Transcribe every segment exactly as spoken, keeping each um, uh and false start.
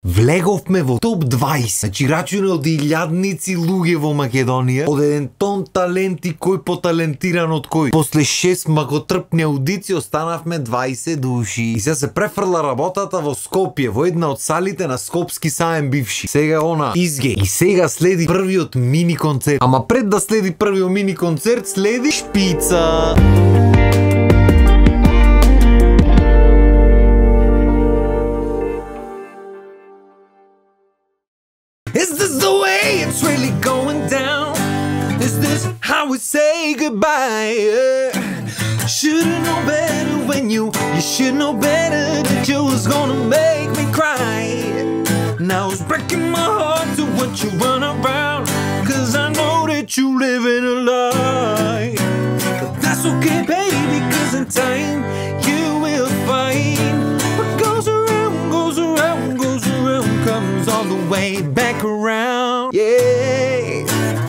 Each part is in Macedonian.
Влеговме во топ дваесет, значи рачуне од илјадници луѓе во Македонија, од еден тон таленти кој поталентиран од кој. После шест макотрпни аудиции останавме дваесет души. И сега се префрла работата во Скопје, во една од салите на Скопски саем бивши. Сега она изге. И сега следи првиот мини концерт. Ама пред да следи првиот мини концерт, следи шпица. Is this the way it's really going down? Is this how we say goodbye? Should've known better when you, you should know better that you was gonna make me cry. Now it's breaking my heart to watch you run around, cause I know that you living a lie. But that's okay, baby, cause in time you will find what goes around, goes around, goes around, comes all the way back around. Yeah.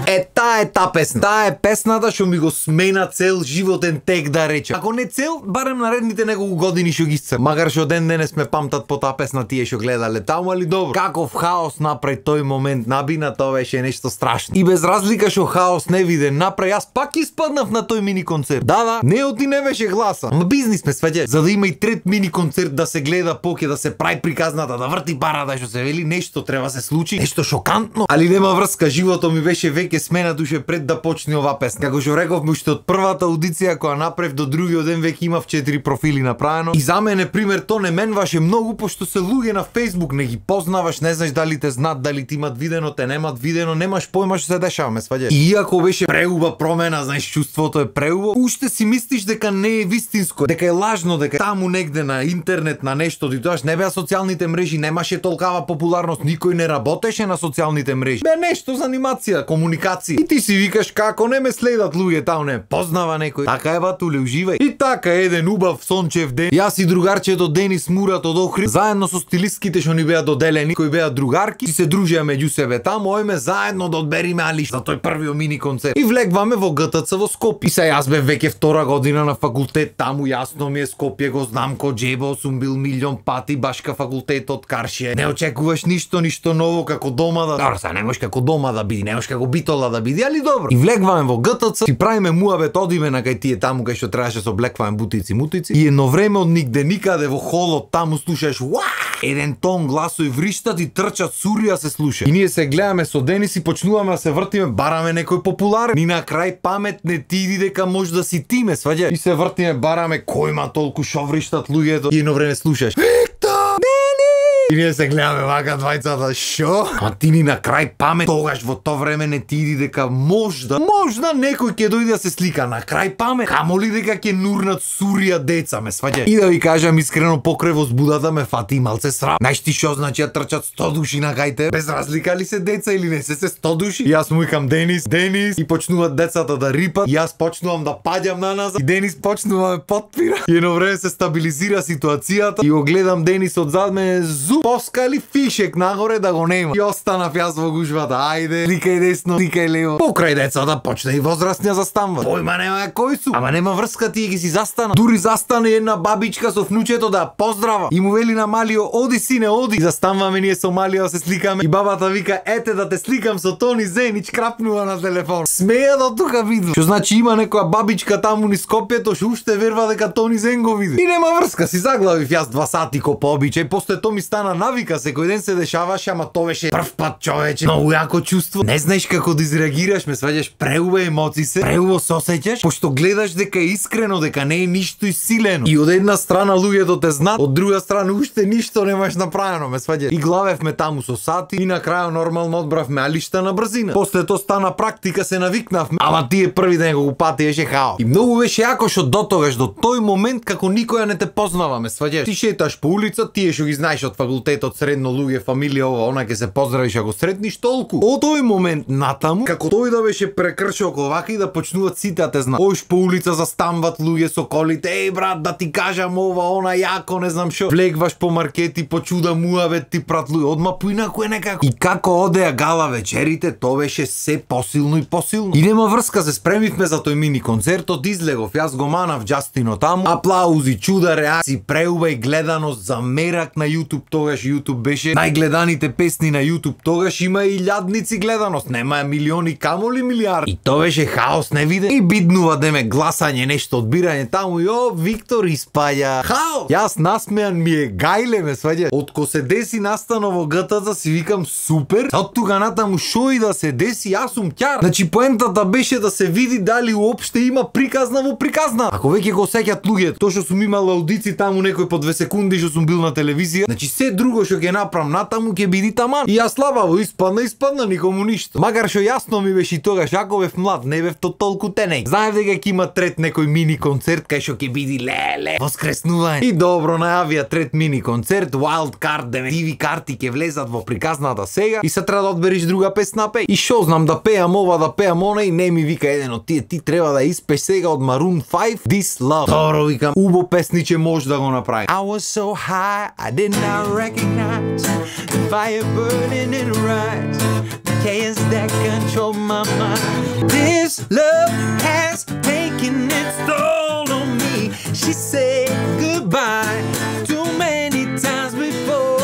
Е, таа е та песна. Таа е песната што ми го смена цел животен тек, да речем. Ако не цел, барем наредните неколку години што ги сцр. Макар што ден денес ме памтат по таа песна тие што гледале таму, али добро. Каков хаос направи тој момент набина, тоа беше нешто страшно. И без разлика што хаос не виде направи, јас пак испаднав на тој мини концерт. Да, да, неот и не беше гласа. Ама бизнис ме сваѓа. За да има и трет мини концерт, да се гледа поке, да се прави приказната, да врти парата, што се вели, нешто треба се случи, нешто шокантно. Али нема врска, животот ми беше веќе смена душе пред да почне ова песна. Како што рековме уште од првата аудиција која направив до другиот ден веќе имав четири профили направено. И за мене пример то не менваше многу, пошто се луѓе на Facebook, не ги познаваш, не знаеш дали те знаат, дали ти имат видено, те немат видено, немаш појма што се дешава, ме сваѓаш. И иако беше преуба промена, знаеш, чувството е преубо, уште си мислиш дека не е вистинско, дека е лажно, дека таму негде на интернет на нешто, ти тоаш не беа социјалните мрежи, немаше толкава популарност, никој не работеше на социјалните мрежи. Бе нешто за анимација, комуникација. И ти си викаш како не ме следат луѓе таму, не познава некој. Така е батуле, уживај. И така еден убав сончев ден, јас и другарчето Денис Мурат од Охрид, заедно со стилистките што ни беа доделени, кои беа другарки, си се дружеа меѓу себе таму, ојме заедно да одбериме алиш за тој првиот мини концерт. И влегваме во ГТЦ во Скопје. И се јас бев веќе втора година на факултет таму, јасно ми е Скопје, го знам ко џебо, сум бил милион пати башка факултетот Каршие. Не очекуваш ништо, ништо ново како дома да. Добро, са не можеш како дома да биде, не можеш како Битола да биде, али добро. И влегваме во ГТЦ, си правиме муабет, одиме на кај тие таму кај што требаше се облекваме бутици, мутици. И едно време од нигде никаде во холот таму слушаш уа! Еден тон гласови вриштат и трчат, сурија се слуша. И ние се гледаме со Денис и почнуваме да се вртиме, бараме некој популарен. Ни на крај памет не ти иди дека може да си ти, ме сваѓа. И се вртиме, бараме кој има толку шо вриштат луѓето. И едно време слушаш и ние се гледаме вака двајцата, шо? А ти ни на крај памет, тогаш во тоа време не ти иди дека можда, можда некој ќе дојде да се слика на крај памет, камоли дека ќе нурнат сурија деца, ме сваѓа. И да ви кажам искрено, покрај возбудата ме фати малце срам. Знаеш ти шо значи да трчат сто души на кај без разлика ли се деца или не се се сто души? И јас му викам Денис, Денис, и почнуваат децата да рипат, и јас почнувам да паѓам на назад, и Денис почнува да ме потпира. И едно време се стабилизира ситуацијата и го гледам Денис одзад мене, зу поскали фишек нагоре да го нема. И останав јас во гужвата. Ајде, ликај десно, ликај лево. Покрај децата почна и возрастни застанува. Појма нема кој су. Ама нема врска, тие ги си застана. Дури застане една бабичка со внучето да поздрава. И му вели на Малио, оди сине, оди. Застануваме ние со Малио да се сликаме. И бабата вика, ете да те сликам со Тони Зенич, крапнува на телефон. Смеја да тука виду. Што значи има некоја бабичка таму низ Скопјето што уште верва дека Тони Зен го види. И нема врска, си заглавив јас два сати ко по обичај. После тоа ми стана навика, секој ден се дешаваше, ама тоа беше прв пат, човече. Многу јако чувство. Не знаеш како да изреагираш, ме сваѓаш, преубаво емоции се, преубаво се осеќаш, пошто гледаш дека е искрено, дека не е ништо исилено. И од една страна луѓето те знаат, од друга страна уште ништо немаш направено, ме сваѓаш. И главевме таму со сати и на крај нормално одбравме алишта на брзина. После тоа стана практика, се навикнавме. Ама тие први ден го патиеше хаос. И многу беше јако што дотогаш до тој момент како никоја не те познава, ме сваѓаш. Ти шеташ по улица, тие што ги знаеш од факултетот, средно луѓе, фамилија, ова, она ќе се поздравиш ако сретниш толку. Од тој момент натаму, како тој да беше прекршил вака и да почнуваат сите да те знаат. Ош по улица застанват луѓе со колите, еј брат, да ти кажам ова, она, јако, не знам шо. Влегваш по маркети, по чуда муавет ти прат луѓе, одма поинаку е некако. И како одеа гала вечерите, тоа беше се посилно и посилно. И нема врска, се спремивме за тој мини концертот, излегов, јас го манав Џастино таму, аплаузи, чуда, реакции, преубај гледаност, замерак на YouTube, тогаш YouTube беше најгледаните песни на YouTube. Тогаш има и илјадници гледаност, нема милиони, камоли милиарди. И тоа беше хаос невиден. И биднува деме гласање, нешто одбирање таму и о, Виктор испаѓа. Хаос! Јас насмеан ми е гајле ме сваѓа. Отко се деси настано во ГТА си викам супер. Од тука натаму шо и да се деси, јас сум ќар. Значи поентата беше да се види дали уопште има приказна во приказна. Ако веќе го сеќат луѓето, тоа што сум имал аудици таму некој по две секунди што сум бил на телевизија, значи се друго што ќе направам натаму ќе биде таман. И јас слабаво испадна, испадна никому ништо. Макар што јасно ми беше и тогаш, ако бев млад, не бев то толку тенеј. Знаев дека ќе има трет некој мини концерт кај што ќе биде леле воскреснување. И добро најавија трет мини концерт, Wild Card, деме Т В карти ќе влезат во приказната сега и се треба да одбериш друга песна пеј. И шо знам да пеам ова, да пеам она и не ми вика еден од тие, ти треба да испееш сега од Maroon five This Love. Добро викам, убо песниче може да го направи. I was so high, I did not recognize the fire burning in her eyes, the chaos that control my mind. This love has taken its toll on me. She said goodbye too many times before.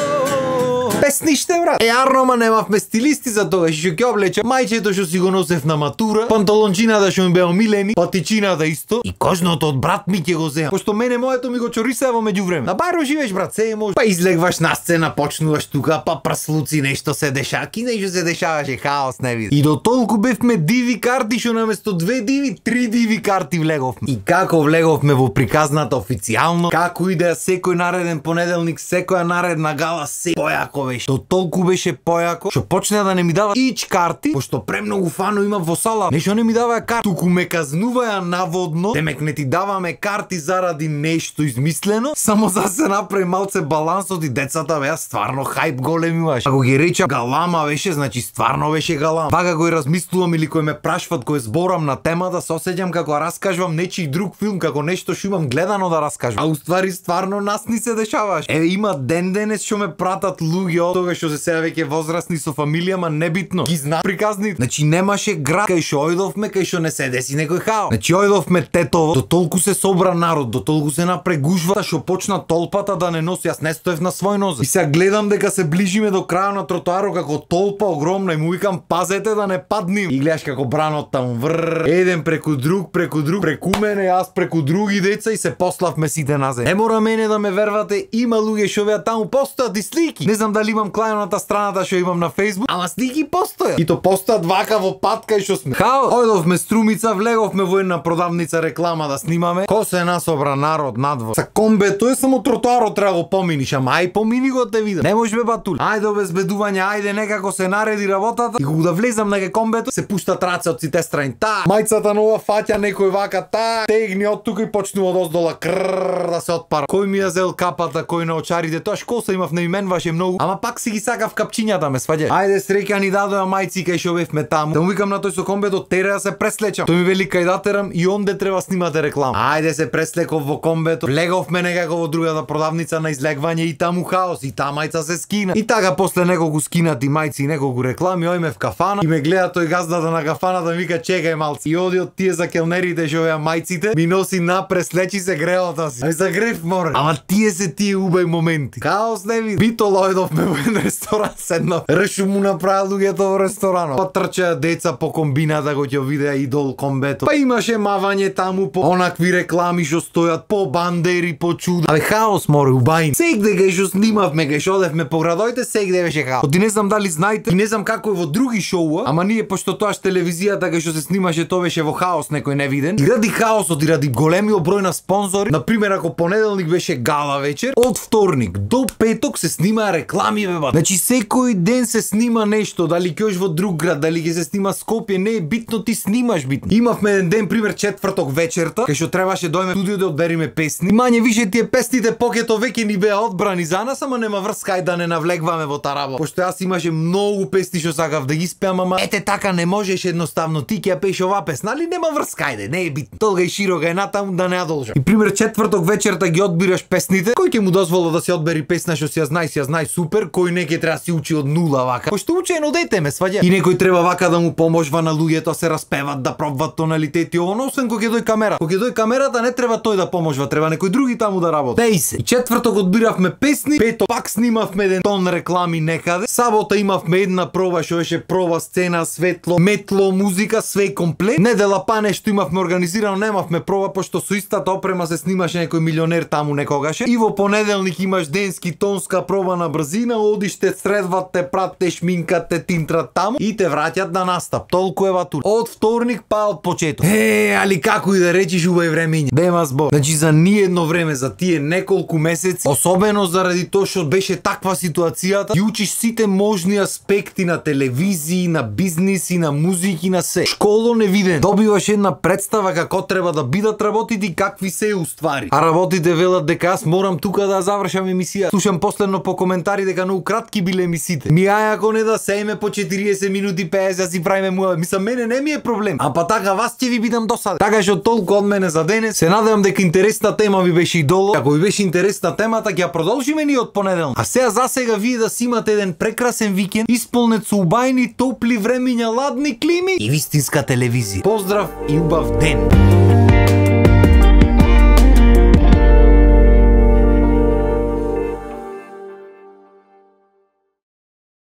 Песниште, брат. Е, арно, ма немавме стилисти за тоа, што ќе облече мајчето што си го носев на матура, панталончината што ми беа омилени, патичината исто и кожното од брат ми ќе го земам. Пошто мене моето ми го чориса во меѓувреме. На Бајро живееш, брат, се е може. Па излегваш на сцена, почнуваш тука, па прслуци нешто се деша, ки нешто се дешаваше, хаос не види. И до толку бевме диви карти што наместо две диви, три диви карти влеговме. И како влеговме во приказната официјално, како идеа секој нареден понеделник, секоја наредна гала, се појако беше. До толку беше појако, што почна да не ми дава ич карти, пошто премногу фано има во сала. Нешто не ми даваја карти, туку ме казнуваја наводно, демек не ти даваме карти заради нешто измислено, само за се направи малце балансот и децата беа стварно хајп големи имаш. Ако ги речам галама беше, значи стварно беше галама. Пака го размислувам или кој ме прашват кој зборам на темата, се осеќам како раскажувам нечи друг филм, како нешто што имам гледано да раскажам. А уствари стварно нас ни се дешаваш. Е, има ден денес што ме пратат луѓе од тога што се сега веќе возрастни со фамилија, ма небитно. Ги зна приказни. Значи немаше град кај што ојдовме, кај што не се деси некој хаос. Значи ојдовме Тетово, до толку се собра народ, до толку се напрегужва што почна толпата да не носи, јас не стоев на свој нозе. И сега гледам дека се ближиме до крајот на тротоарот како толпа огромна и му викам пазете да не паднем. И гледаш како бранот таму врр, еден преку друг, преку друг, преку мене, јас преку други деца и се пославме сите на земја. Не мора мене да ме вервате, има луѓе што беа таму, постојат и слики. Не знам дали имам клајаната страната што имам на Facebook, ама слики постојат. И то постојат вака во пат кај што сме. Хао, ојдовме Струмица, влеговме во една продавница реклама да снимаме. Ко се насобра народ надвор. Са комбе, тоа е само тротоарот треба го поминиш, ама ај помини го те видам. Не може бе батули. Ајде обезбедување, ајде некако се нареди работата. И кога да влезам на комбето, се пуштат раце од сите страни. Та, мајцата нова фаќа некој вака, та, тегни од тука и почнува од оздола крррр да се отпара. Кој ми ја зел капата, кој на очарите, тоа шкоса имав на именваше многу, ама пак си ги сакав капчињата ме сваѓа. Ајде среќа ни дадоа мајци кај што бевме таму. Да му викам на тој со комбето, тере да се преслечам. Тој ми вели кај да терам и онде треба снимате реклама. Ајде се преслеков во комбето, влеговме некако во другата продавница на излегвање и таму хаос, и та мајца се скина. И така после неколку скинати мајци и неколку реклами, ојме в кафана и ме гледа тој газдата на кафаната, ми вика чекај малци. И оди од тие за келнерите што беа мајците, ми носи напред, слечи се греota си. Ај за грев море. Ама тие се тие убај моменти. Хаос не види. Бито лојдовме во еден ресторан, седнав. Решу му направи луѓето во ресторанот. Па трчаја деца по комбината го ќе видеа идол комбето. Па имаше мавање таму по онакви реклами што стојат по бандери, по чуда. Абе хаос море убајни. Сегде кај што снимавме, кај што одевме по градоите, сегде беше хаос. Ти не знам дали знаете, и не знам како е во други шоуа, ама ние пошто тоаш телевизијата кај што се снимаше тоа беше во хаос некој невиден. И ради хаосот и ради големиот број на спонзори, на пример ако понеделник беше гала вечер, од вторник до петок се снимаа реклами бе бат. Значи секој ден се снима нешто, дали ќе одиш во друг град, дали ќе се снима Скопје, не е битно, ти снимаш битно. Имавме еден ден пример четврток вечерта, кај што требаше дојме студио да одбериме песни. Мање више тие песните покето веќе ни беа одбрани за нас, ама нема врска ај да не навлегваме во таа работа. Пошто јас имаше многу песни што сакав да ги спеам, ама ете така не можеш едноставно ти ќе ја пееш оваа песна, али нема врска ајде, не е битно. Толга и широка е натаму да не ја должам. И пример четврток вечерта ги одбираш песните, кој ќе му дозвола да се одбери песна што си ја знај, си ја знај супер, пример, кој некој треба си учи од нула вака. Кој што учи едно дете ме сваѓа. И некој треба вака да му поможва на луѓето, се распеват, да пробват тоналитети, оно, освен кога ќе дој камера. Кога ќе дој камерата не треба тој да поможва, треба некој други таму да работи. Деј се. И четврток одбиравме песни, пето пак снимавме еден тон реклами некаде. Сабота имавме една проба што беше проба сцена, светло, метло, музика, све комплет. Недела па нешто имавме организирано, немавме проба пошто со истата опрема се снимаше некој милионер таму некогаше. И во понеделник имаш денски тонска проба на брзина, одиш те средват, те прат, те шминкат, те тинтрат таму и те враќат на настап. Толку е ватур. Од вторник па од почеток. Е, али како и да речиш убави времења. Бема збор. Значи за ние едно време, за тие неколку месеци, особено заради тоа што беше таква ситуацијата, ја учиш сите можни аспекти на телевизии, на бизниси, на музики, на се. Школо невиден. Добиваш една представа како треба да бидат работите и какви се уствари. А работите велат дека аз морам тука да завршам емисија. Слушам последно по коментари дека многу кратки биле емисиите. Ми ај ако не да сееме по четириесет минути пеесет си правиме муа. Мислам мене не ми е проблем. А па така вас ќе ви бидам досаден. Така што толку од мене за денес. Се надевам дека интересна тема ви беше идоло. Ако ви беше интересна темата, ќе ја продолжиме ни од понеделник. А сега за сега вие да си имате еден прекрасен викенд, исполнет со убајни топли времиња, ладни клими и вистинска телевизија. Поздрав и убав ден.